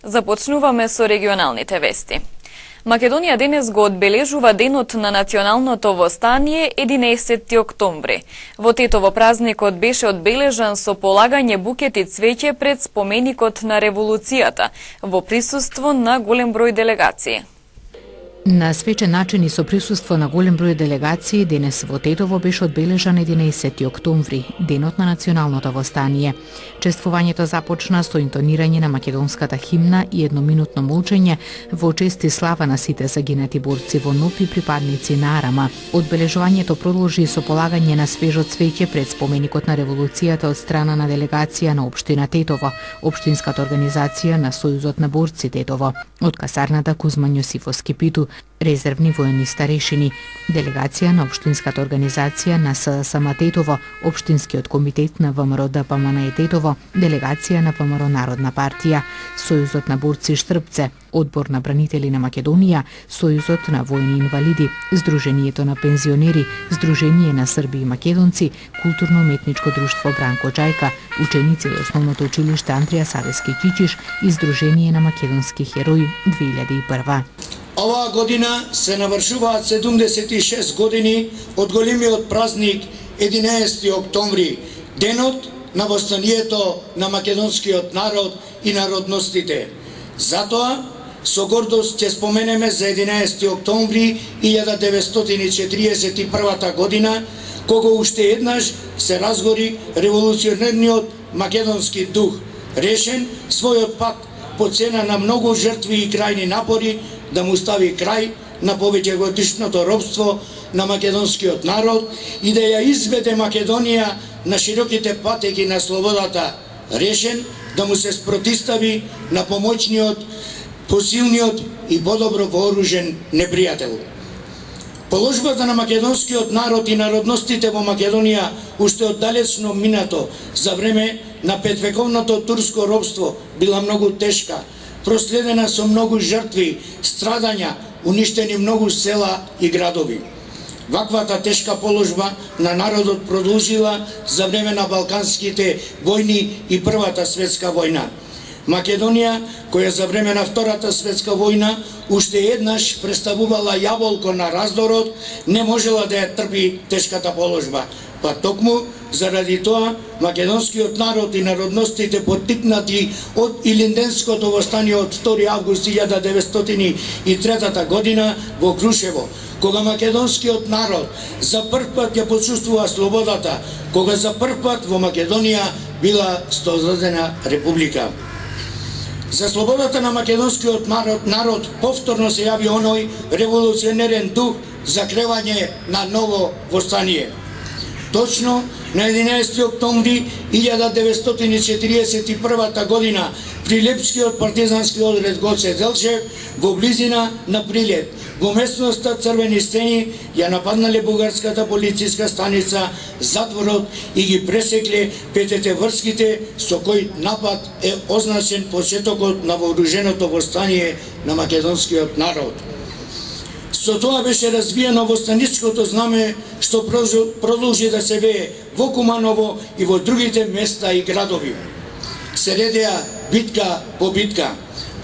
Започнуваме со регионалните вести. Македонија денес го одбележува денот на националното востание 11 октомври. Во Тетово празникот беше одбележан со полагање букети цвеќе пред споменикот на револуцијата во присуство на голем број делегации. На свечен начин и со присуство на голем број делегации, денес во Тетово беше одбележан 11 октомври, денот на националното востание. Чествувањето започна со интонирање на македонската химна и едноминутно молчење во чест и слава на сите загинати борци во НОП и припадници на Арама. Одбележувањето продолжи со полагање на свежо цвеќе пред споменикот на револуцијата од страна на делегација на општина Тетово, општинската организација на Сојузот на борци Тетово, од касарната Кузма Њосифовски Питу, резервни воени старешини, делегација на општинската организација на ССМ Тетово, општинскиот комитет на ВМРО ДПМН Тетово, делегација на ВМРО Народна партија, Сојузот на борци Штрпце, Одбор на бранители на Македонија, Сојузот на војни инвалиди, Сдруженијето на пензионери, Сдружение на срби и македонци, Културно-уметничко друштво Бранко Џајка, ученици од основното училиште Андрија Савески Кичиш и Сдружение на македонски херои 2001. Оваа година се навршуваат 76 години од големиот празник 11 октомври, денот на востанието на македонскиот народ и народностите. Затоа, со гордост ќе споменеме за 11 октомври 1941 година, кога уште еднаш се разгори револуционерниот македонски дух, решен својот пат по цена на многу жртви и крајни напори да му стави крај на повеќегодишното робство на македонскиот народ и да ја изведе Македонија на широките патеки на слободата, решен да му се спротистави на помоćниот, посилниот и подобро вооружен непријател. Положбата на македонскиот народ и народностите во Македонија уште од далечно минато за време на петвековното турско робство била многу тешка, проследена со многу жртви, страдања, уништени многу села и градови. Ваквата тешка положба на народот продолжила за време на Балканските војни и Првата светска војна. Македонија, која за време на Втората светска војна уште еднаш представувала јаболко на раздорот, не можела да ја трпи тешката положба. Па токму заради тоа македонскиот народ и народностите поттикнати од Илинденското востание од 2 август 1903 година во Крушево, кога македонскиот народ за прв пат ја почувствува слободата, кога за прв пат во Македонија била создадена република. За слободата на македонскиот народ повторно се јави оној револуционерен дух за кревање на ново востание. Точно на 11 октомври 1941 година при Лепскиот партизански одред Гоце Делчев во близина на Прилеп, во местноста Црвени стени, ја нападнале бугарската полициска станица, затворот и ги пресекле пететеврските, со кој напад е означен почетокот на вооруженото востание на македонскиот народ. Со тоа беше развиено востаничкото знаме, што продолжи да се вее во Куманово и во другите места и градови. Се редеа битка по битка.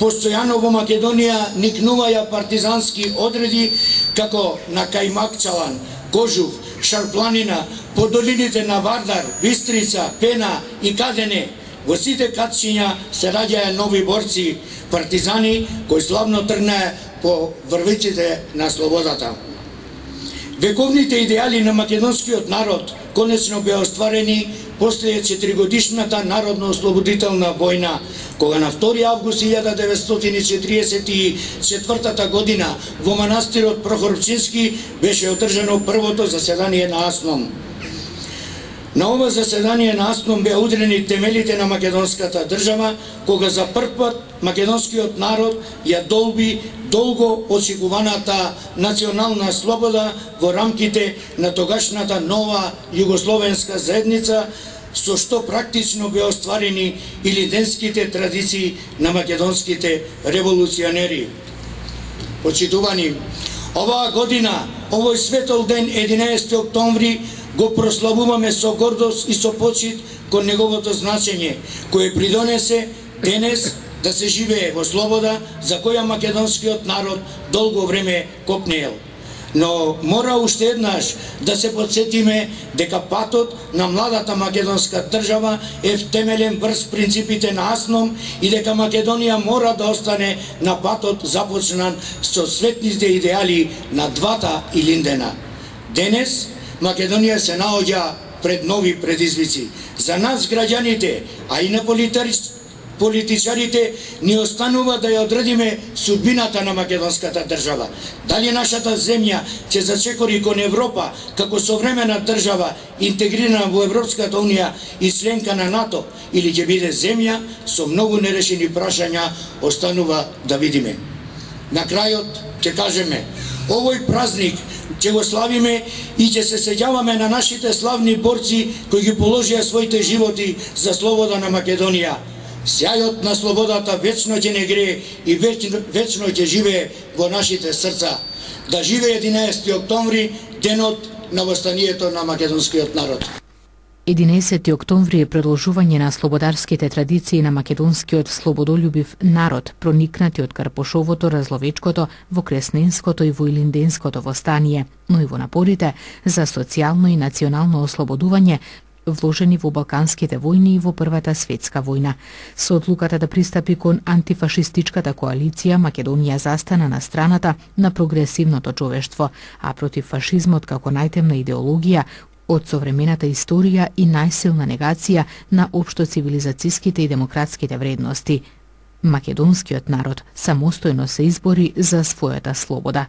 Постојано во Македонија никнуваја партизански одреди како на Кајмакчалан, Кожув, Шарпланина, по долините на Вардар, Бистрица, Пена и Кадене. Во сите катчиња се раѓаја нови борци, партизани кои славно тргнаа по врвиците на слободата. Вековните идеали на македонскиот народ конечно беа остварени после 4-годишната народно-ослободителна војна, кога на 2 август 1944 година во манастирот Прохорчински беше одржано првото заседание на АСНОМ. На ова заседание на АСНОМ беа удрени темелите на македонската држава, кога за прв пат македонскиот народ ја долби долго очекуваната национална слобода во рамките на тогашната нова југословенска заедница, со што практично беа остварени илинденските традиции на македонските револуционери. Почитувани, оваа година, овој светол ден 11 октомври го прославуваме со гордост и со почит кон неговото значење, кое придонесе денес да се живее во слобода за која македонскиот народ долго време копнеел. Но мора уште еднаш да се подсетиме дека патот на младата македонска држава е втемелен врз принципите на Асном и дека Македонија мора да остане на патот започнан со светните идеали на двата Илиндена. Денес Македонија се наоѓа пред нови предизвици. За нас граѓаните, а и на политичарите ни останува да ја одредиме судбината на македонската држава. Дали нашата земја ќе зачекори кон Европа како современа држава интегрирана во Европската унија и членка на НАТО, или ќе биде земја со многу нерешени прашања, останува да видиме. На крајот ќе кажеме, овој празник ќе го славиме и ќе се сеќаваме на нашите славни борци кои ги положија своите животи за слобода на Македонија. Сјајот на слободата вечно ќе не грее и вечно ќе живее во нашите срца. Да живее 11 октомври, денот на востанието на македонскиот народ. 11 октомври е продолжување на слободарските традиции на македонскиот слободолюбив народ, проникнати од Карпошовото, Разловечкото, во Кресненското и во Илинденското востание, но и во напорите за социјално и национално ослободување вложени во Балканските војни и во Првата светска војна. Со одлуката да пристапи кон антифашистичката коалиција, Македонија застана на страната на прогресивното човештво, а против фашизмот како најтемна идеологија од современата историја и најсилна негација на општоцивилизацијските и демократските вредности. Македонскиот народ самостојно се избори за својата слобода.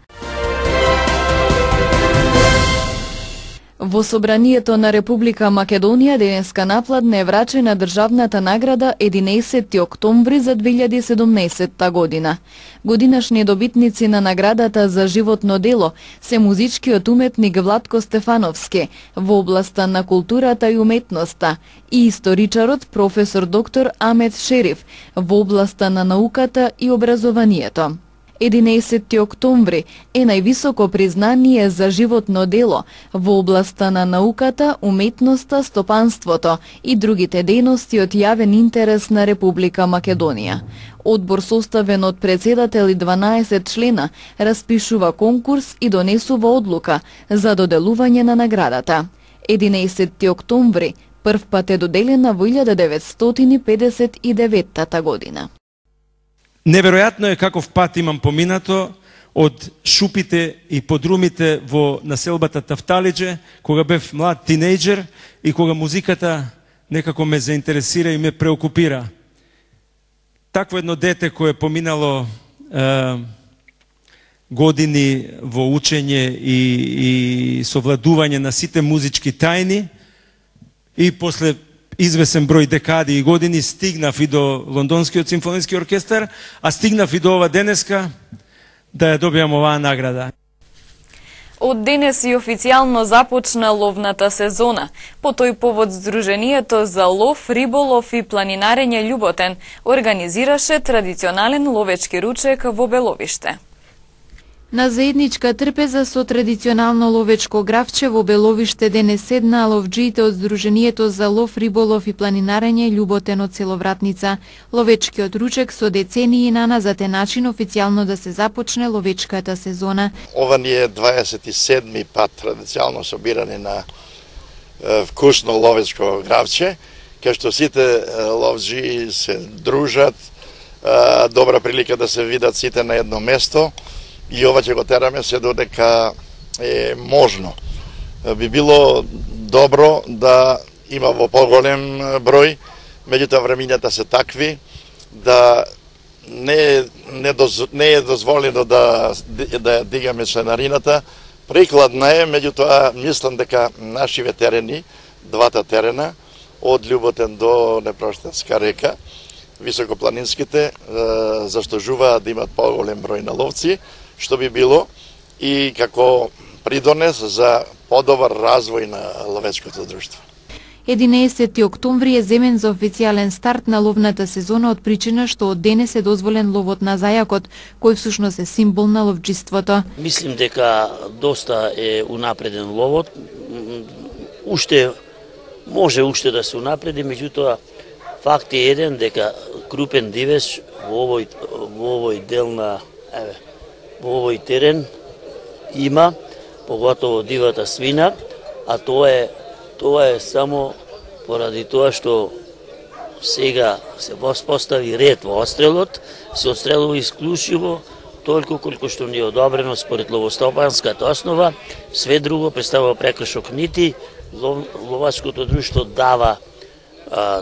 Во Собранието на Република Македонија денеска напладне е врачена државната награда 11 октомври за 2017 година. Годинашни добитници на наградата за животно дело се музичкиот уметник Владко Стефановски во областа на културата и уметноста и историчарот професор доктор Амет Шериф во областа на науката и образованието. 11 октомври е највисоко признание за животно дело во областа на науката, уметноста, стопанството и другите дејности од јавен интерес на Република Македонија. Одбор составен од председател и 12 члена распишува конкурс и донесува одлука за доделување на наградата. 11 октомври прв пат е доделена во 1959 година. Неверојатно е каков пат имам поминато од шупите и подрумите во населбата Тафталиџе, кога бев млад тинејџер и кога музиката некако ме заинтересира и ме преокупира. Такво едно дете кое е поминало години во учење и совладување на сите музички тајни и после извесен број декади и години стигнав и до Лондонскиот симфониски оркестар, а стигнав и до ова денеска да ја добијам оваа награда. Од денес и официјално започна ловната сезона. По тој повод Сдруженијето за лов, риболов и планинарење Љуботен организираше традиционален ловечки ручек во Беловиште. На заедничка трпеза со традиционално ловечко гравче во Беловиште денес седнаа ловџиите од Сдруженијето за лов, риболов и планинарење Љуботен од село Вратница. Ловечкиот ручек со децении наназад е начин официјално да се започне ловечката сезона. Ова ни е 27-ми пат традиционално собирање на вкусно ловечко гравче, кај што сите ловџи се дружат, добра прилика да се видат сите на едно место. И ова ќе го тераме се додека е можно. Би било добро да има во поголем број, меѓутоа времињата се такви да не е дозволено да дигаме членарината. Прикладна е, меѓутоа мислам дека нашиве терени, двата терена, од Љуботен до Непроштенска река, високопланинските, заслужуваат да имат поголем број на ловци, што би било и како придонес за подобар развој на ловечкото друштво. 11 октомври е земен за официјален старт на ловната сезона од причина што од денес е дозволен ловот на зајакот, кој всушност е символ на ловџиството. Мислим дека доста е унапреден ловот. Може да се унапреди, меѓутоа факт е еден дека крупен дивеч во овој дел на во овој терен има, поготово дивата свина, а тоа е само поради тоа што сега се постави ред во отстрелот, се отстрелува исклучиво толку колку што ни е одобрено според ловостопанската основа, све друго представува прекршок, нити ловачкото друштво дава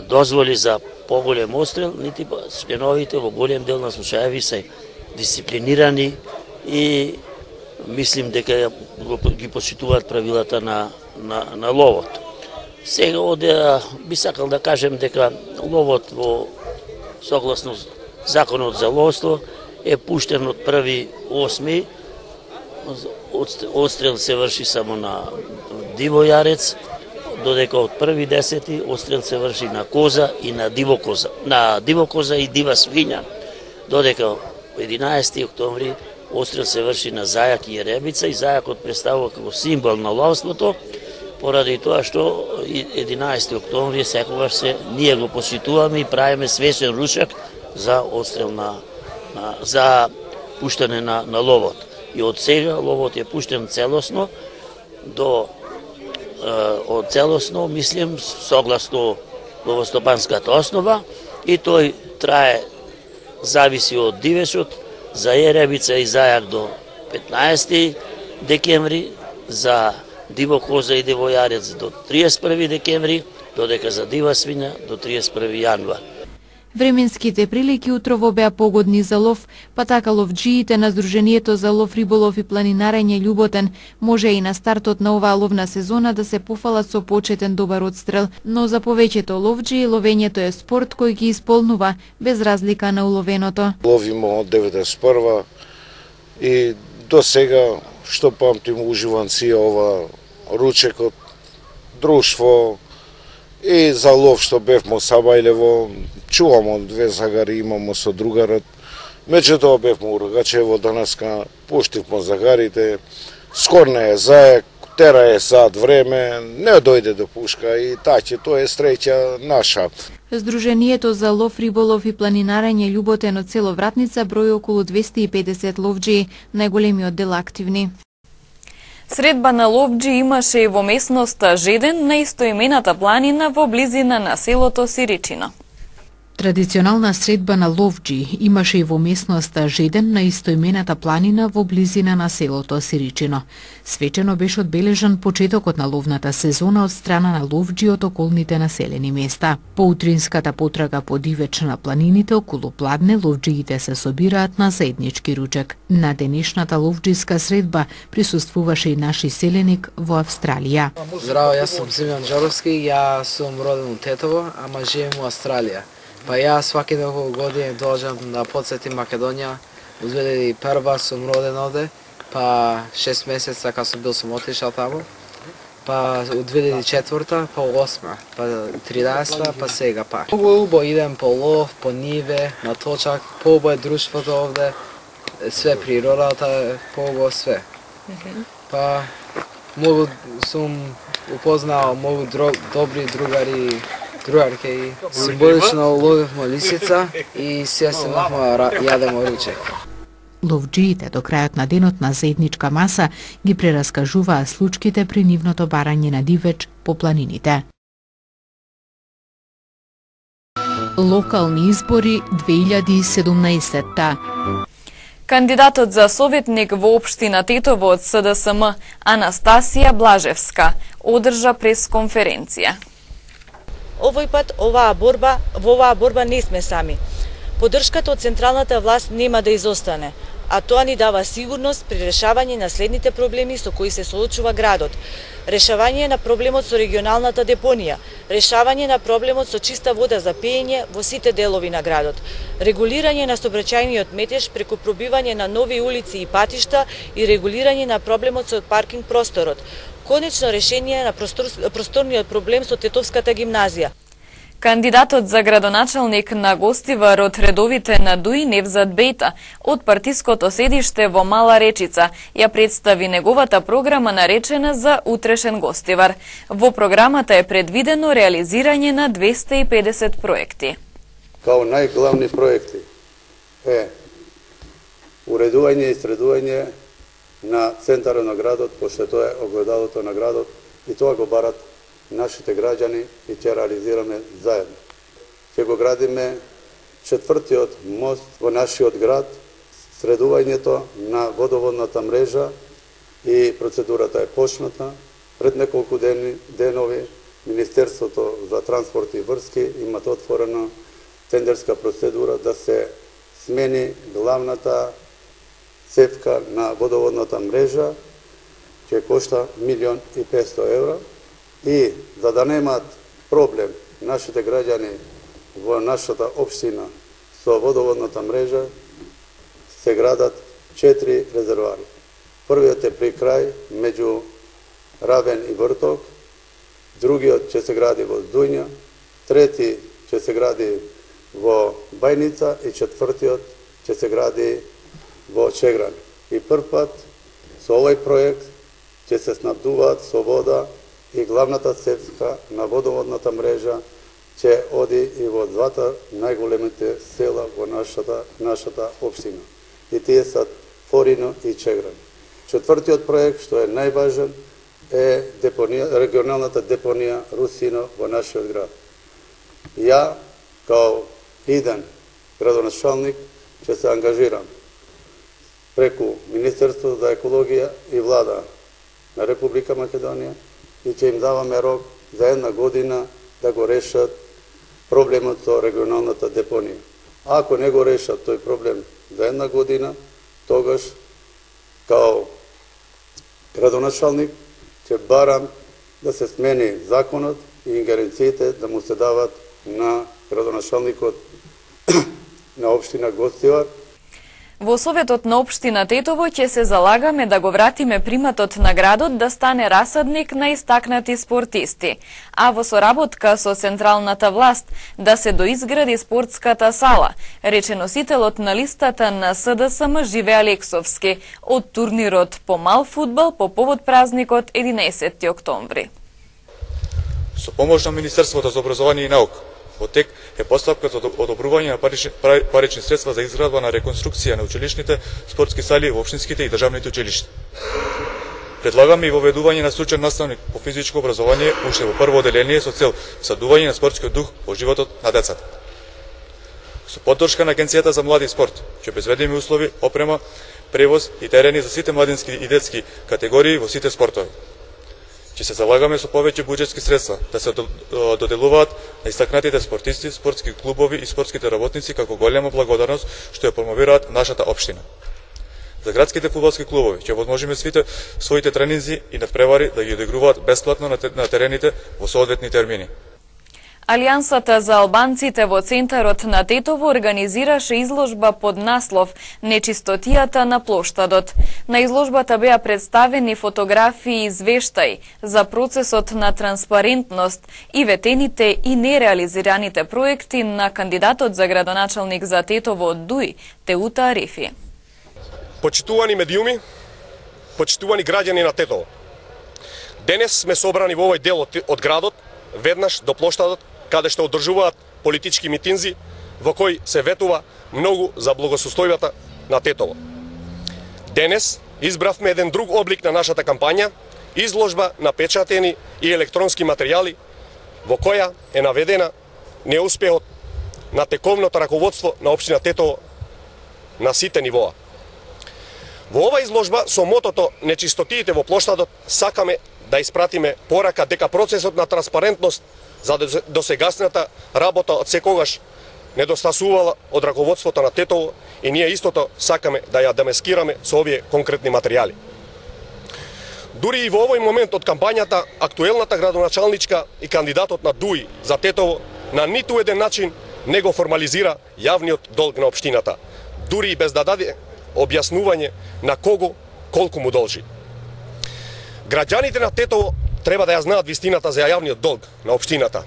дозволи за поголем отстрел, нити членовите во голем дел на случаеви се дисциплинирани и мислим дека ги почитуваат правилата на ловот. Сега би сакал да кажем дека ловот во согласно законот за ловство е пуштен од 1.8. Отстрел се врши само на диво јарец, додека од 1.10. отстрел се врши на коза и на диво коза и дива свиња, додека 11. октомври отстрел се врши на зајак и јеребица и зајакот представува како символ на ловството, поради тоа што 11. октомври секогаш ние го почитуваме и правиме свечен ручек за отстрел за пуштане на ловот. И од сега ловот е пуштен целосно мислим, согласно ловостопанската основа и тој трае, зависи од дивечот, за јеребица и зајак до 15. декември, за диво коза и диво јарец до 31. декември, додека за дива свиња до 31. јануар. Временските прилики утрово беа погодни за лов, па така ловџиите на Сдруженијето за лов, риболов и планинарење Љуботен може и на стартот на оваа ловна сезона да се пофалат со почетен добар отстрел, но за повеќето ловџии ловењето е спорт кој ги исполнува без разлика на уловеното. Ловиме од 91 и до сега што памтим уживам си ова ручекот, друштво и за лов што бевмо Сабајлево, чувамо две загари имамо со другарот. Меѓутоа бевме у Рогачево, данаска пуштивмо загарите, скорна е заек, тера е сад време, не дојде до пушка и таќе тоа е среќа наша. Сдруженијето за лов, риболов и планинарење Љуботен од село Вратница брои околу 250 ловџии, најголемиот дел активни. Средба на ловџи имаше и во местноста Жеден на истоимената планина во близина на селото Сиричино. Традиционална средба на ловџи имаше и во местноста Жеден на истоимената планина во близина на селото Сиричино. Свечено беше одбележан почетокот на ловната сезона од страна на ловџи од околните населени места. По утринската потрага по дивеч на планините околу Пладне, ловџиите се собираат на заеднички ручек. На денешната ловџиска средба присуствуваше и наши селеник во Австралија. Здраво, јас сум Симеон Джоровски, ја сум роден у Тетово, ама живеем у Австралија. Па ја сваки неколку години доаѓам да потсетим Македонија. У 2001 сум роден овде, па 6 месеца кога сум бил сум отишал таму. Па у 2004, па 8, па 13, па сега пак. Убо идем по лов, по ниве, на точак, побо е друштвото овде, све природата, побо све. Па многу сум упознал многу добри другари, другарке и символично ловевме лисица и сега се јадемо ручек. Ловџиите до крајот на денот на заедничка маса ги прераскажуваа случките при нивното барање на дивеч по планините. Локални избори 2017. Кандидатот за советник во општина Тетово од СДСМ Анастасија Блажевска одржа пресконференција. Овој пат во оваа борба не сме сами. Поддршката од централната власт нема да изостане, а тоа ни дава сигурност при решавање на следните проблеми со кои се соочува градот. Решавање на проблемот со регионалната депонија, решавање на проблемот со чиста вода за пиење во сите делови на градот, регулирање на сообраќајниот метеж преку пробивање на нови улици и патишта и регулирање на проблемот со паркинг просторот, конечно решение на просторниот проблем со Тетовската гимназија. Кандидатот за градоначалник на Гостивар од редовите на Дуи Невзат Бејта од партиското седиште во Мала Речица ја представи неговата програма наречена за утрешен Гостивар. Во програмата е предвидено реализирање на 250 проекти. Као најглавни проекти е уредување и средување на центарот на градот, пошто тоа е огледалото на градот и тоа го барат нашите граѓани и ќе реализираме заедно. Ќе го градиме четвртиот мост во нашиот град, средувањето на водоводната мрежа и процедурата е почната. Пред неколку денови Министерството за транспорт и врски имат отворена тендерска процедура да се смени главната цевка на водоводната мрежа, ќе кошта 1.500.000 евра и за да немаат проблем нашите граѓани во нашата општина со водоводната мрежа се градат 4 резервари. Првиот е при крај меѓу Равен и Врток, другиот ќе се гради во Здујња, трети ќе се гради во Бајница и четвртиот ќе се гради во Чегран. И првпат со овој проект ќе се снабдуваат со вода и главната цевка на водоводната мрежа ќе оди и во двата најголемите села во нашата општина. И тие се Форино и Чегран. Четвртиот проект, што е најважен, е регионалната депонија Русино во нашиот град. Ја, као иден градоначалник, ќе се ангажирам преку Министерството за екологија и влада на Република Македонија и ќе им даваме рок за 1 година да го решат проблемот со регионалната депонија. Ако не го решат тој проблем за 1 година, тогаш као градоначалник ќе барам да се смени законот и ингеренциите да му се дават на градоначалникот на општина Гостивар. Во Советот на општина Тетово ќе се залагаме да го вратиме приматот на градот да стане расадник на истакнати спортисти, а во соработка со централната власт да се доизгради спортската сала, рече носителот на листата на СДСМ Живе Алексовски од турнирот по мал фудбал по повод празникот 11 октомври. Со помош на Министерството за образование и наука, во тек е постапка за одобрување на парични средства за изградба на реконструкција на училишните спортски сали во општинските и државните училишта. Предлагаме и воведување на стручен наставник по физичко образование уште во прво оделение со цел садување на спортскиот дух во животот на децата. Со поддршка на Агенцијата за млади и спорт ќе обезбедиме услови, опрема, превоз и терени за сите младински и детски категории во сите спортови. Ќе се залагаме со повеќе буџетски средства да се доделуваат на истакнатите спортисти, спортски клубови и спортските работници како голема благодарност што ја промовираат нашата општина. За градските фудбалски клубови ќе возможиме сите своите тренинзи и надпревари да ги одигруваат бесплатно на терените во соодветни термини. Алијансата за албанците во центарот на Тетово организираше изложба под наслов «Нечистотијата на плоштадот». На изложбата беа представени фотографии и извештаи за процесот на транспарентност и ветените и нереализираните проекти на кандидатот за градоначалник за Тетово од ДУИ, Теута Арифи. Почитувани медиуми, почитувани граѓани на Тетово. Денес сме собрани во овој дел од градот, веднаш до плоштадот, каде што одржуваат политички митинзи, во кој се ветува многу за благосостојбата на Тетово. Денес избравме еден друг облик на нашата кампања, изложба на печатени и електронски материјали, во која е наведена неуспехот на тековното раководство на општина Тетово на сите нивоа. Во ова изложба со мотото «Нечистотиите во плоштадот» сакаме да испратиме порака дека процесот на транспарентност за досегашната работа од секогаш недостасувала од раководството на Тетово и ние истото сакаме да ја демаскираме со овие конкретни материјали. Дури и во овој момент од кампањата, актуелната градоначалничка и кандидатот на ДУИ за Тетово на ниту еден начин не го формализира јавниот долг на општината, дури и без да даде објаснување на кого колку му должи. Граѓаните на Тетово треба да ја знаат вистината за јавниот долг на општината,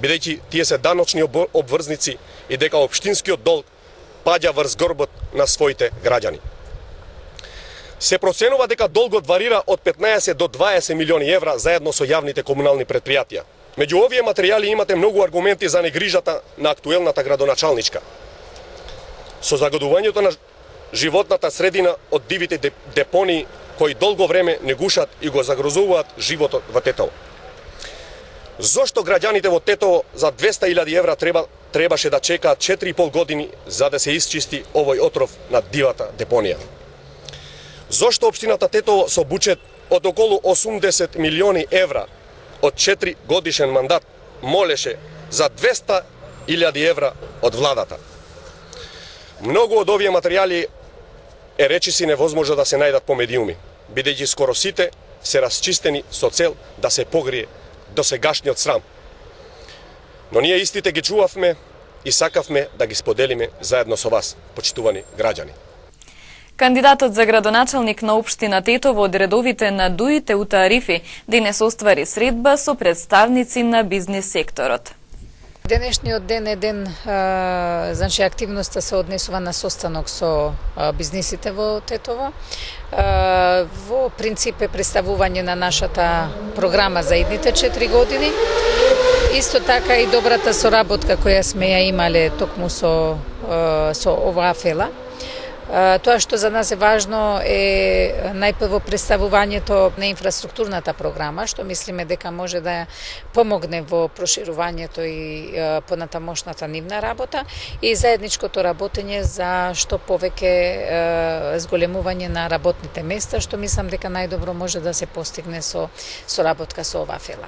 бидејќи тие се даночни обврзници и дека општинскиот долг паѓа врз горбот на своите граѓани. Се проценува дека долгот варира од 15 до 20 милиони евра заедно со јавните комунални предпријатија, Меѓу овие материјали имате многу аргументи за негрижата на актуелната градоначалничка. Со загадувањето на животната средина од дивите депонии кои долго време не гушат и го загрозуваат животот во Тетово. Зошто граѓаните во Тетово за 200.000 евра требаше да чекаат 4,5 години за да се исчисти овој отров на дивата депонија? Зошто општината Тетово со буџет од околу 80 милиони евра од 4 годишен мандат молеше за 200.000 евра од владата? Многу од овие материјали е речиси невозможно да се најдат по медиуми, бидејќи скоро сите се расчистени со цел да се погрие досегашниот срам. Но ние истите ги чувавме и сакавме да ги споделиме заедно со вас, почитувани граѓани. Кандидатот за градоначалник на општина Тетово од редовите на Дуите Ута Арифи денес оствари средба со представници на бизнис секторот. Денешниот ден е ден, значи активноста се однесува на состанок со бизнисите во Тетово. Во принцип е представување на нашата програма за идните 4 години. Исто така и добрата соработка која сме ја имале токму со оваа фела. Тоа што за нас е важно е најпрво представувањето на инфраструктурната програма, што мислиме дека може да помогне во проширувањето и понатамошната нивна работа и заедничкото работење за што повеќе зголемување на работните места, што мислам дека најдобро може да се постигне со соработка со оваа фела.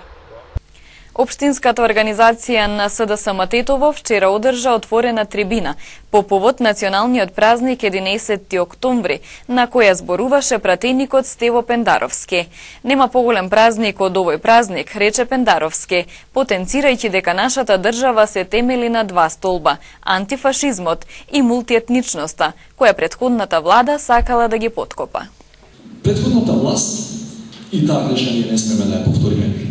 Општинската организација на СДСМ Тетово вчера одржа отворена трибина по повод националниот празник 11 октомври, на која зборуваше пратеникот Стево Пендаровски. Нема поголем празник од овој празник, рече Пендаровски, потенцирајќи дека нашата држава се темели на два столба – антифашизмот и мултиетничноста, која претходната влада сакала да ги поткопа. Претходната власт и таа грешка ние не смеме да ја повториме.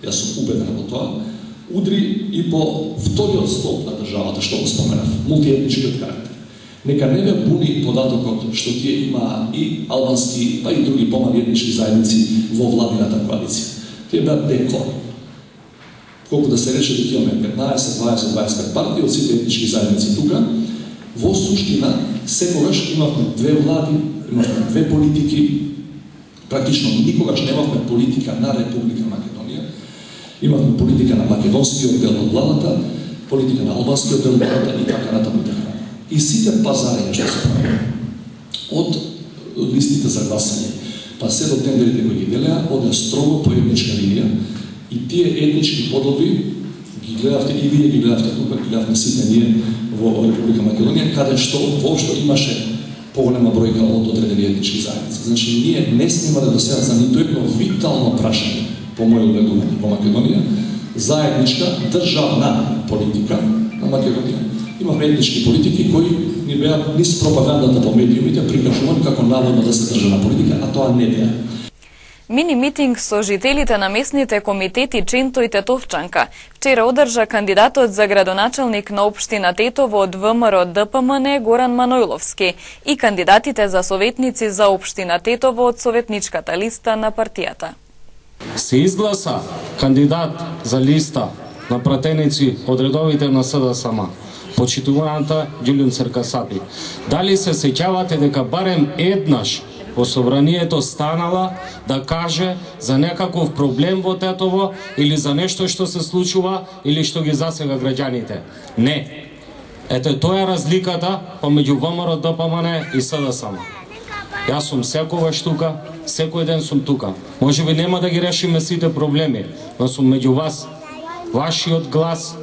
Јас сум убеден во тоа, удри и по вториот столб на државата, што го споменав, мултиетничкиот карактер. Нека не ве буни податокот што тие има и албански, па и други помали етнички заедници во владината коалиција. Тие беа декор. Колку да се рече дека имаме 15, 20, 25 партии од сите етнички заедници тука, во суштина секогаш имавме две влади, имавме две политики, практично никогаш немавме политика на Република Македонија. Имавме политика на македонскиот дел од владата, политика на албанскиот дел од владата и така натаму. И сите пазарења што се прави, од листите за гласање, па се до тендерите кои ги делеа, оде строго по етничка линија и тие етнички подоби ги гледавте и вие ги гледавте тука, ги гледавме сите ние во Република Македонија, каде што воопшто имаше поголема бројка од одредени етнички заедници. Значи, ние не снимале до сега за ниту едно витално прашање по моје убедување во Македонија, заедничка државна политика на Македонија. Имавме етнички политики кои ни беа низ пропагандата по медиумите прикажувани како наводно да се државна политика, а тоа не беа. Мини митинг со жителите на местните комитети Ченто и Тетовчанка вчера одржа кандидатот за градоначалник на општина Тетово од ВМРО ДПМН Горан Манојловски и кандидатите за советници за општина Тетово од советничката листа на партијата. Се изгласа кандидат за листа на пратеници од редовите на СДСМ, почитуваната Ѓулјун Церкасапи. Дали се сеќавате дека барем еднаш во собранието станала да каже за некаков проблем во Тетово или за нешто што се случува или што ги засега граѓаните? Не. Ете, тоа е разликата помеѓу ВМРО ДПМН и СДСМ. Јас сум секогаш тука, секој ден сум тука. Можеби нема да ги решиме сите проблеми, но сум меѓу вас. Вашиот глас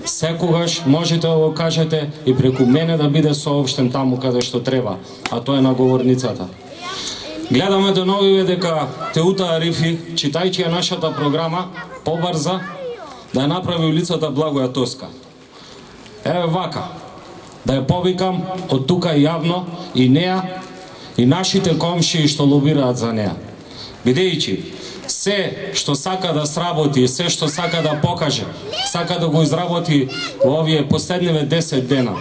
секогаш можете да го кажете и преку мене да биде соопштен таму каде што треба, а тоа е на говорницата. Гледаме деновиве дека Теута Арифи, читајќи ја нашата програма, побрза да ја направи улицата Благоја Тоска. Еве вака, да ја повикам од тука јавно и неа и нашите комшии што лобираат за неа. Бидејќи се што сака да сработи, се што сака да покаже, сака да го изработи во овие последниве 10 дена.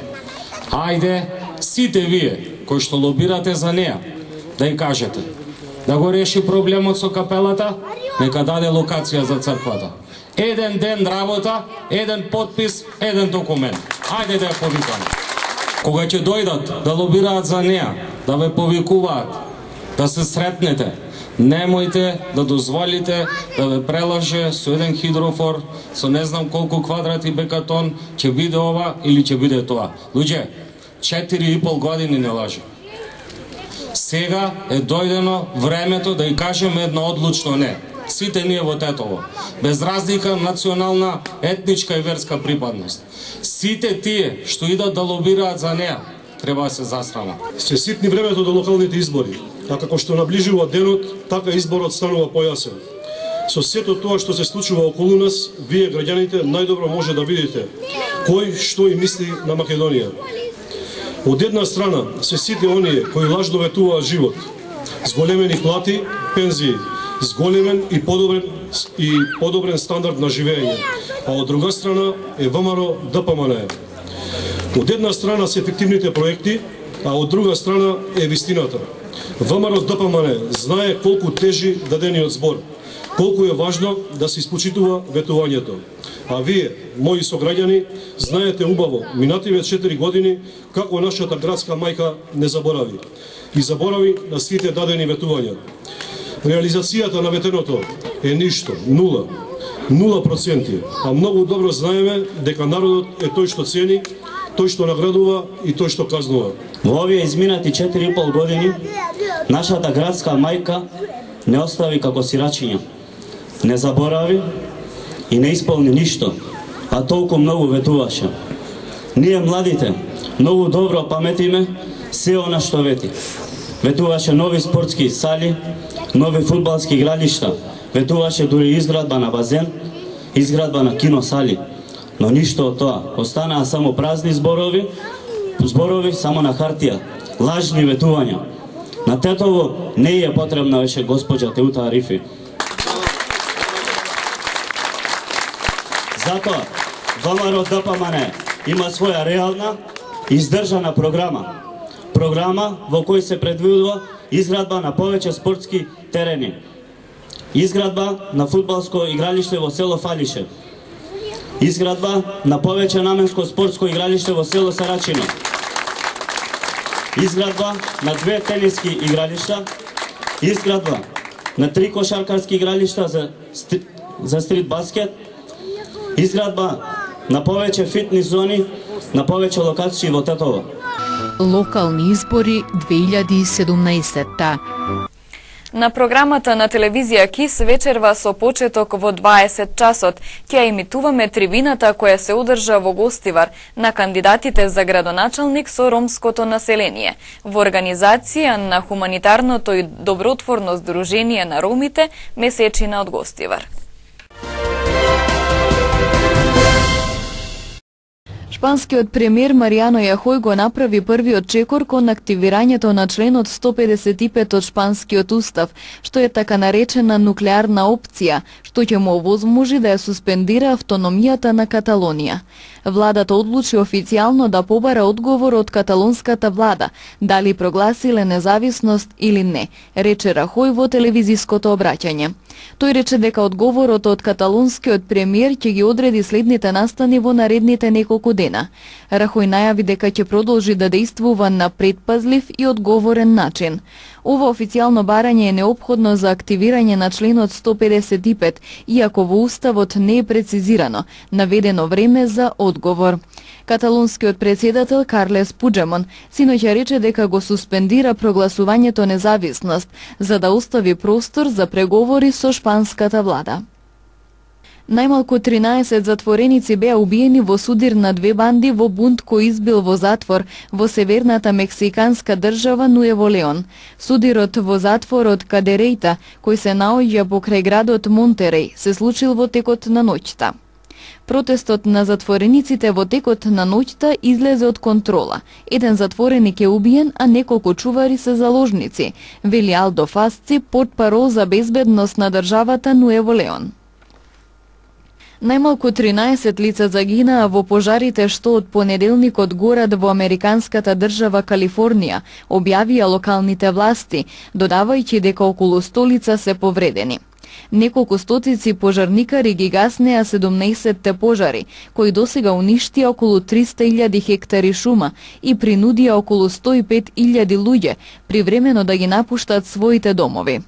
Ајде, сите вие кои што лобирате за неа, да ја кажете, да го реши проблемот со капелата, нека даде локација за црквата. Еден ден работа, еден подпис, еден документ. Ајде да ја повикаме. Кога ќе дојдат да лобираат за неа, да ве повикуваат, да се сретнете, немојте да дозволите да ве прелаже со еден хидрофор, со не знам колку квадрати бекатон, ќе биде ова или ќе биде тоа. Луѓе, 4,5 години не лаже. Сега е дојдено времето да ја кажеме едно одлучно не. Сите ние во Тетово, без разлика национална, етничка и верска припадност. Сите тие што идат да лобираат за неа, треба да се засрамат. Се ситни времето до локалните избори, а како што наближува денот, така изборот станува појасен. Со сето тоа што се случува околу нас, вие граѓаните најдобро може да видите кој што и мисли на Македонија. Од една страна се сите оние кои лажно ветуваат живот, зголемени плати, пензии, зголемен и подобрен стандард на живење, а од друга страна е ВМРО ДПМН. Од една страна се ефективните проекти, а од друга страна е вистината. ВМРО ДПМН знае колку тежи дадениот збор, колку е важно да се испочитува ветувањето. А вие, мои сограѓани, знаете убаво, минативе 4 години, како нашата градска мајка не заборави. И заборави на сите дадени ветувања. Реализацијата на ветеното е ништо, 0%, а многу добро знаеме дека народот е тој што цени, тој што наградува и тој што казнува. Во овие изминати 4,5 години, нашата градска мајка не остави како сирачиња, не заборави и не исполни ништо, а толку многу ветуваше. Ние младите многу добро паметиме се она што вети. Ветуваше нови спортски сали, нови фудбалски игралишта, ветуваше дури изградба на базен, изградба на киносали. Но ништо од тоа, останаа само празни зборови само на хартија, лажни ветувања. На Тетово не е потребна веше госпоѓа Теута Арифи. Затоа, ВМРО ДПМН има своја реална, издржана програма. Програма во кој се предвидува изградба на повеќе спортски терени, изградба на фудбалско игралиште во село Фалише, изградба на повеќе наменско спортско игралиште во село Сарачино, изградба на 2 тениски игралишта, изградба на 3 кошаркарски игралишта за стрит баскет, изградба на повеќе фитнес зони, на повеќе локации во Тетово. Локални избори 2017. На програмата на телевизија КИС вечерва со почеток во 20 часот ќе емитуваме трибината која се одржа во Гостивар на кандидатите за градоначалник со ромското население во организација на хуманитарното и добротворно здружение на ромите Месечина од Гостивар. Шпанскиот премиер Маријано Јахој го направи првиот чекор кон активирањето на членот 155 од шпанскиот устав, што е така наречена нуклеарна опција, што ќе му овозможи да ја суспендира автономијата на Каталонија. Владата одлучи официјално да побара одговор од каталонската влада, дали прогласиле независност или не, рече Рахој во телевизиското обраќање. Тој рече дека одговорот од каталонскиот премиер ќе ги одреди следните настани во наредните неколку дена. Рахој најави дека ќе продолжи да действува на предпазлив и одговорен начин. Ова официјално барање е неопходно за активирање на членот 155, иако во уставот не е прецизирано, наведено време за одговор. Каталонскиот председател Карлес Пуџемон синоќа рече дека го суспендира прогласувањето независност, за да остави простор за преговори со шпанската влада. Најмалку 13 затвореници беа убиени во судир на 2 банди во бунт кој избил во затвор во северната мексиканска држава Нуево Леон. Судирот во затворот Кадерејта, кој се наоѓа покрај градот Монтереј, се случил во текот на ноќта. Протестот на затворениците во текот на ноќта излезе од контрола. Еден затвореник е убиен, а неколку чувари се заложници, вели Алдо Фасци, портпарол за безбедност на државата Нуево Леон. Најмалку 13 лица загинаа во пожарите што од понеделникот горат во американската држава Калифорнија, објавија локалните власти, додавајќи дека околу 100 лица се повредени. Неколку стотици пожарникари ги гаснеа 17 пожари, кои досега уништија околу 300.000 хектари шума и принудија околу 105.000 луѓе привремено да ги напуштат своите домови.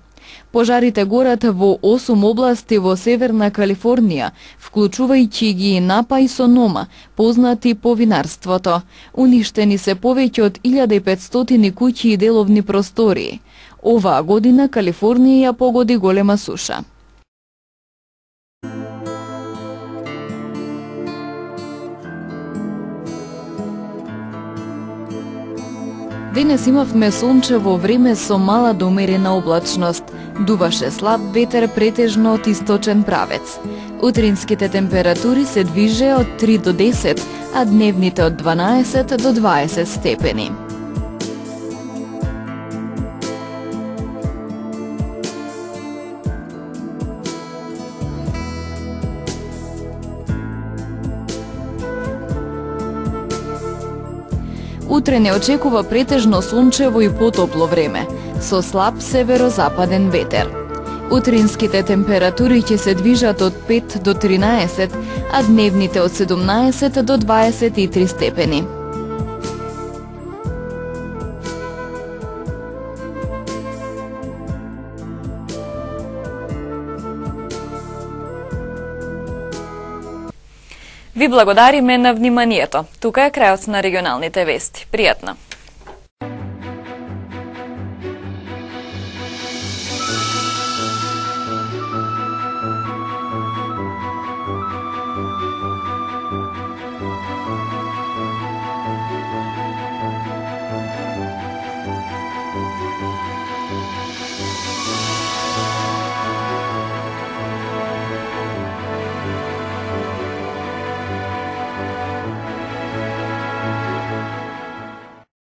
Пожарите горат во 8 области во Северна Калифорнија, вклучувајќи ги Напа и Сонома, познати по винарството. Уништени се повеќе од 1500 куќи и деловни простории. Оваа година Калифорнија ја погоди голема суша. Денес имавме сончево време со мала до умерена облачност. Дуваше слаб ветер претежно од источен правец. Утринските температури се движеа од 3 до 10, а дневните од 12 до 20 степени. Утре не очекува претежно сончево и потопло време, со слаб северозападен ветер. Утринските температури ќе се движат од 5 до 13, а дневните од 17 до 23 степени. Ви благодариме на вниманието. Тука е крајот на регионалните вести. Пријатно!